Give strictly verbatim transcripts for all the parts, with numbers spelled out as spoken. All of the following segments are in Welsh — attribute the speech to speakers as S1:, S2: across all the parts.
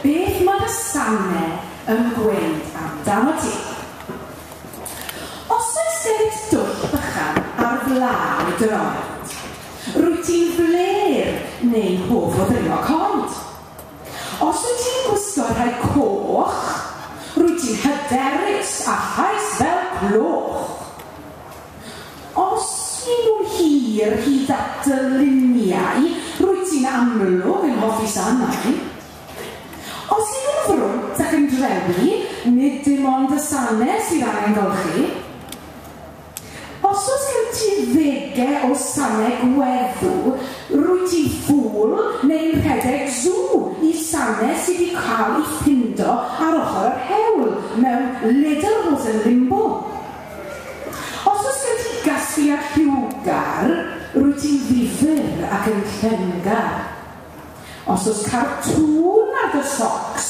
S1: Beth mae dy sanau yn gweud amdano ti? Os oes gen ti dwll bychan ar flaen dy droed, rwyt ti'n fler neu'n hoff o ddringo coed. Os wyt ti'n gwisgo rhai coch, rwyt ti'n hyderus a llais fel cloch. Os y'n nhw'n hir hyd at dy liniau, rwyt ti'n amlwg yn hoffi sanau. Os y'n nhw'n frwnt ac yn drewi, nid dim ond y sanau sydd angen golchi. Os oes gen ti ddegau o sanau gweddw, rwyt ti'n ffŵl neu'n rhedeg sŵ i sanau sydd wedi cael eu ffindo ar ochr yr hewl mewn lederhosen limbo. Os oes gen ti gasgliad lliwgar, rwyt ti'n ddifyr ac yn llengar. Os oes cartŵn ar dy socks,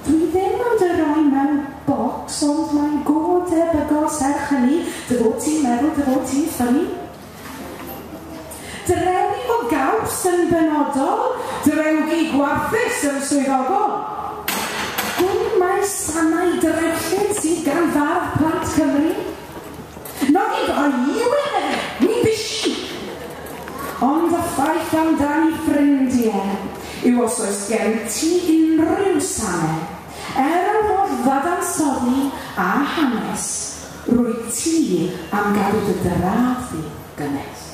S1: dwi ddim yn dy roi mewn bocs, ond mae'n go debygol serch hynny, dy fod ti'n meddwl dy fod ti'n funny. Drewi o gaws yn benodol, drewgi gwarthus yn swyddogol. Gwn mai sanau drewllyd sydd gan fardd plant Cymru. Nog i yw e, ni bisi. Ond y ffaith amdani ffrindiau yw os oes gen ti unrhyw sanau, er yr holl ddadansoddi a hanes, rwyt ti am gadw dy draed di gynnes.